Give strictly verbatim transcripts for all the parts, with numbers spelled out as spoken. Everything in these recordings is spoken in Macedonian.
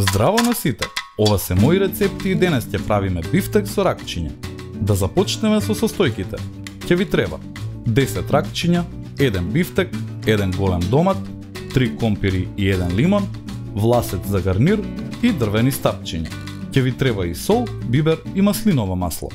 Здраво на сите! Ова се мои рецепти и денес ќе правиме бифтек со ракчиња. Да започнеме со состојките. Ќе ви треба десет ракчиња, еден бифтек, еден голем домат, три компири и еден лимон, власец за гарнир и дрвени стапчиња. Ќе ви треба и сол, бибер и маслиново масло.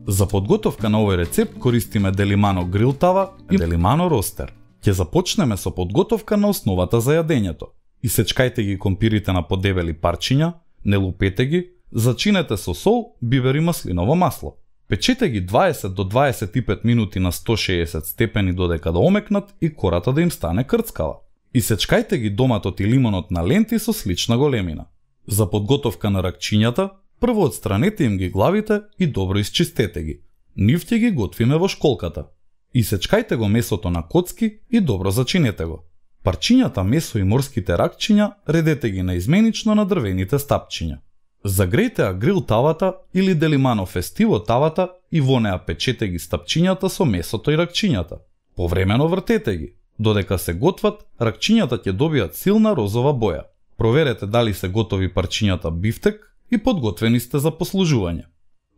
За подготовка на овој рецепт користиме Делимано грил тава и Делимано ростер. Ќе започнеме со подготовка на основата за јадењето. Исечкајте ги компирите на подебели парчиња, не лупете ги, зачинете со сол, бибер и маслиново масло. Печете ги дваесет до дваесет и пет минути на сто и шеесет степени додека да омекнат и кората да им стане крцкава. Исечкајте ги доматот и лимонот на ленти со слична големина. За подготовка на ракчињата, прво отстранете им ги главите и добро исчистете ги. Нив ќе ги готвиме во школката. Исечкајте го месото на коцки и добро зачинете го. Парчињата месо и морските ракчиња редете ги наизменично на дрвените стапчиња. Загрејте ја грил тавата или Делимано фестиво тавата и во неа печете ги стапчињата со месото и ракчињата. Повремено вртете ги. Додека се готват, ракчињата ќе добијат силна розова боја. Проверете дали се готови парчињата бифтек и подготвени сте за послужување.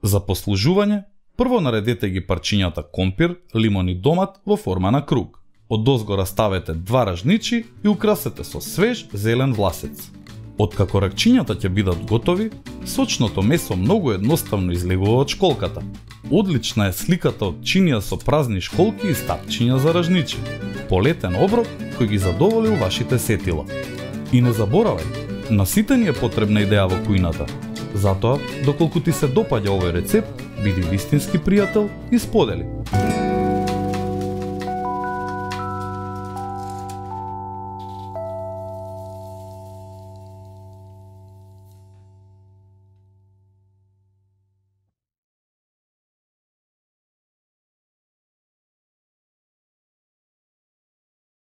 За послужување, прво наредете ги парчињата компир, лимон и домат во форма на круг. Одозго раставете два ражничи и украсете со свеж зелен власец. Откако ракчињата ќе бидат готови, сочното месо многу едноставно излегува од школката. Одлична е сликата од чинија со празни школки и стапчиња за ражничи. Полетен оброк кој ги задоволил вашите сетила. И не заборавај, на сите ни е потребна идеја во кујната. Затоа, доколку ти се допаѓа овој рецепт, биди вистински пријател и сподели.